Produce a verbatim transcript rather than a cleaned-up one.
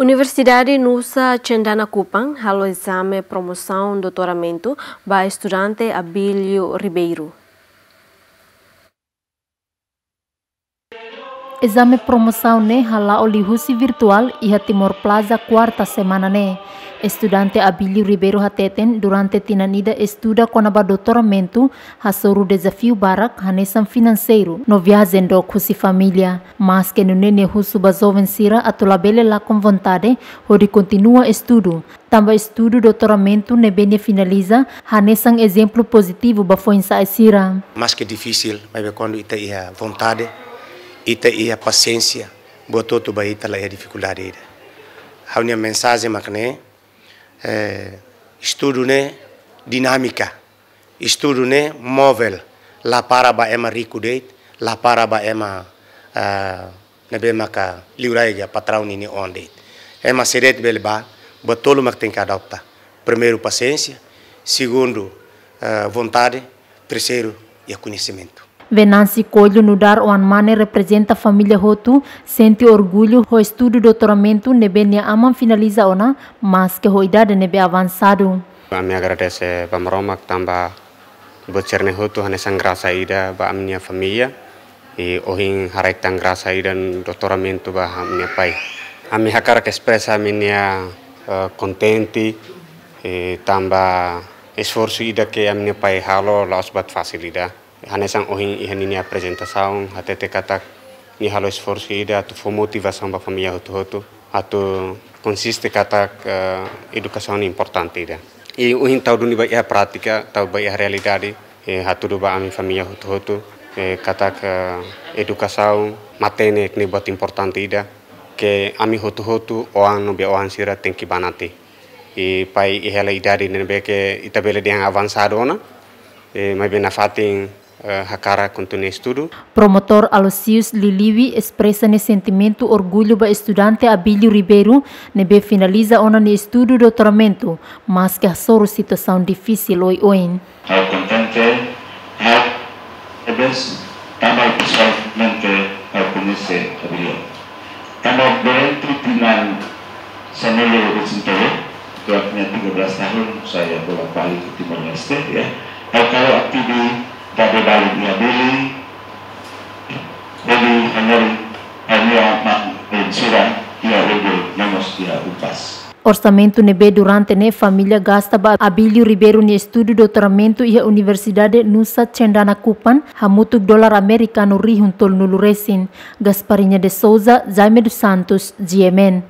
Universidade Nusa Cendana Kupang halo ezame promosaun doutoramentu ba estudante Abílio Ribeiro. Ezame promosaun ne'e hala'o liuhusi virtuál iha Timor Plaza kuarta semana ne'e. Estudante Abílio Ribeiro hateten durante tinan ida estuda kona-ba doutoramentu hasoru dezafiu barak hanesan finanseiru no viajen dook husi família. Maske nune'e nia husu ba joven sira atu labele lakon vontade hodi kontinua estudu. Tanba estudu doutoramentu ne'ebé nia finaliza hanesan ezemplu pozitivu ba foin-sa'e sira. Maske difisil, maibé kuandu ita iha vontade, ita iha pasiénsia, buat hotu ba ita la iha difikuldade ida. Ha'u-nia mensajen mak ne'e, eh, estudu ne'e dinámika, estudu ne'e movel, la para ba ema riku de'it, la para ba ema, ah, ne'ebé maka liurai ka patraun ninia oan de'it. Ema sé de'it bele bá, buat tolu mak tenke adota. Primeiru, pasiénsia, segundu, ah, vontade, terseiru, iha koñesimentu. Venansi Coelho nu'udar oan mane reprezenta família hotu, sente orgullu ho estudu doutoramentu ne'ebé nia aman finaliza ona, maske ho idade ne'ebé avansadu. Ami agradese ba Maromak tanba buat sira-ne'e hotu hanesan grasa ida ba ami-nia família. I ohin haraik tan grasa ida doutoramentu ba ami-nia pai. Ami hakarak espresa ami-nia, eh, kontente, eh, tanba esforsu ida ke ami-nia pai halo la'ós buat fasil ida. Hanesan ohin iha ninia aprezentasaun, hatete katak nia halo esforsu ida atu fó motivasaun ba família hotu-hotu, atu konsiste katak, eh, edukasaun importante ida. I ohin tau duni ba iha prátika, tau ba iha realidade, eh, hatudu ba ami família hotu-hotu, eh, katak, eh, edukasaun matenek ne'e buat importante ida, ke ami hotu-hotu, oan no be oan sira tenke banati. I pai iha hela idade ne'ebé ke ita bele dehan avansadu ona, eh, maibé nafatin, eh, hakarak kontinua estudu. Promotór Aloysius Liliwi espresa nia sentimentu orgullu ba estudante Abílio Ribeiro, ne'ebé finaliza ona nia estudu doutoramentu, maske hasoru situasaun difisil oioin. Ha'u kontente, ha'u tebes, tanba pesoalmente ha'u koñese Abílio. Tanba durante tinan sanulu-resin-tolu, waktu tiga belas tahun saya bolak-balik ke Timor Leste, ya. Ha'u halo atividade balik iha Dili, Dili, Hanoi, ha'u-nia maun sira iha Unggul, no mós iha Unpas. Orsamentu ne'ebé durante ne'e família gasta ba Abílio Ribeiro nia estudu doutoramentu iha Universidade Nusa Cendana Kupang hamutuk dolar amerikanu rihun tolunulu resin. Gasparinha de Souza, Jaime dos Santos, G M N.